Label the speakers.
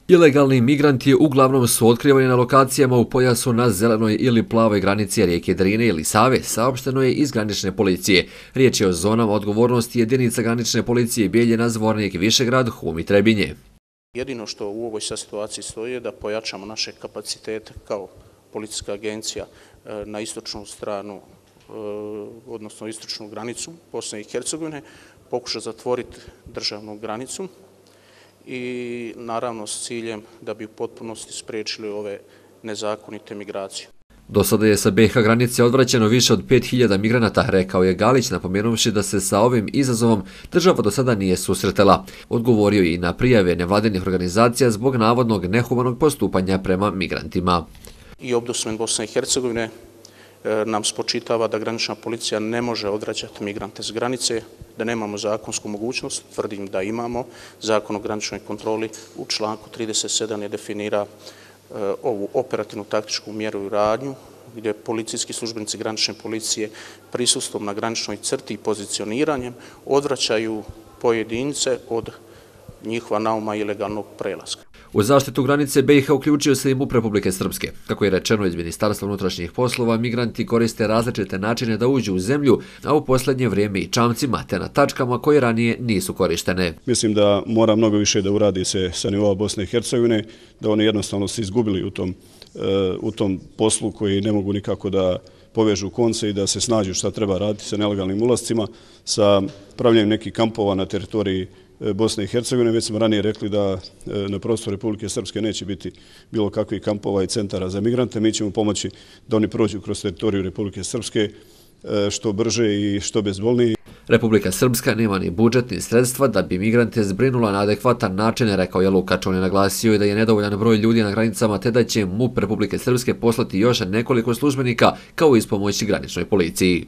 Speaker 1: Ilegalni migranti uglavnom su otkrivani na lokacijama u pojasu na zelenoj ili plavoj granici rijeke Drine ili Save, saopšteno je iz granične policije. Riječ je o zonama odgovornosti jedinica granične policije Bijeljina, Zvornik, Višegrad, Hum i Trebinje.
Speaker 2: Jedino što u ovoj situaciji stoji je da pojačamo naše kapacitete kao policijska agencija na istočnu stranu, odnosno istočnu granicu Bosne i Hercegovine, pokuša zatvoriti državnu granicu i naravno s ciljem da bi u potpunosti spriječili ove nezakonite migracije.
Speaker 1: Do sada je sa BiH granice odvraćeno više od 5000 migranata, rekao je Galić, napomenuvši da se sa ovim izazovom država do sada nije susretala. Odgovorio i na prijave nevladinih organizacija zbog navodnog nehumanog postupanja prema migrantima.
Speaker 2: I Ombudsman Bosne i Hercegovine nam spočitava da granična policija ne može odvraćati migrante s granice, da nemamo zakonsku mogućnost. Tvrdim da imamo. Zakon o graničnoj kontroli u članku 37 je definira ovu operativnu taktičku mjeru i radnju, gdje policijski službenici granične policije prisustvom na graničnoj crti i pozicioniranjem odvraćaju pojedince od njihova nauma ilegalnog prelaska.
Speaker 1: U zaštitu granice BiH uključio se i MUP Republike Srpske. Kako je rečeno iz Ministarstva unutrašnjih poslova, migranti koriste različite načine da uđu u zemlju, a u posljednje vrijeme i čamcima, te na tačkama koje ranije nisu korištene.
Speaker 3: Mislim da mora mnogo više da uradi se sa nivoa Bosne i Hercegovine, da oni jednostavno se izgubili u tom poslu koji ne mogu nikako da povežu konce i da se snađu šta treba raditi sa nelegalnim ulascima, sa pravljenjem nekih kampova na teritoriji Bosne i Hercegovine. Već smo ranije rekli da na prostoru Republike Srpske neće biti bilo kakvih kampova i centara za migrante. Mi ćemo pomoći da oni prođu kroz teritoriju Republike Srpske što brže i što bezbolnije.
Speaker 1: Republika Srpska nema ni budžet ni sredstva da bi migrante zbrinula na adekvatan način, rekao je Lukač. On je naglasio i da je nedovoljan broj ljudi na granicama, te da će MUP Republike Srpske poslati još nekoliko službenika kao ispomoći graničnoj policiji.